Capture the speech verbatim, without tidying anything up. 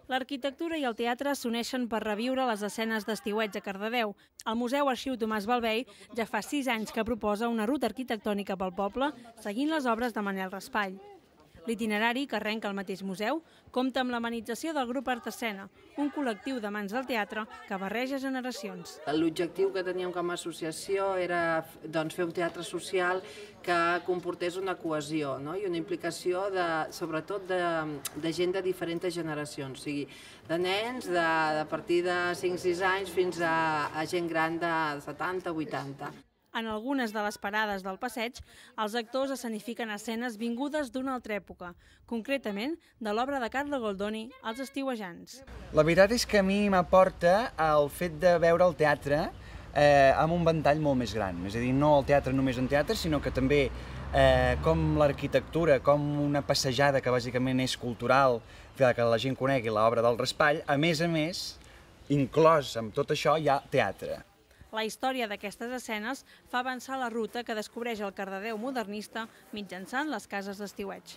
L'arquitectura i el teatre s'uneixen per reviure les escenes d'estiueig a Cardedeu. El Museu Arxiu Tomàs Balvei ja fa sis anys que proposa una ruta arquitectònica pel poble seguint les obres de Manel Raspall. L'itinerari, que arrenca al mateix museu, compta amb l'amenització del grup Art Escena, un col·lectiu d'amants del teatre que barreja generacions. L'objectiu que teníem com a associació era doncs, fer un teatre social que comportés una cohesió, no? I una implicació de, sobretot de, de gent de diferents generacions, o sigui, de nens de, de partir de cinc sis anys fins a, a gent gran de setanta vuitanta. En algunes de les parades del passeig, els actors escenifiquen escenes vingudes d'una altra època, concretament de l'obra de Carlo Goldoni, Els estiuejants. La veritat és que a mi m'aporta el fet de veure el teatre eh, amb un ventall molt més gran. És a dir, no el teatre només en teatre, sinó que també eh, com l'arquitectura, com una passejada que bàsicament és cultural, que la gent conegui l'obra del Raspall, a més a més, inclòs amb tot això, hi ha teatre. La història d'aquestes escenes fa avançar la ruta que descobreix el Cardedeu modernista mitjançant les cases d'estiueig.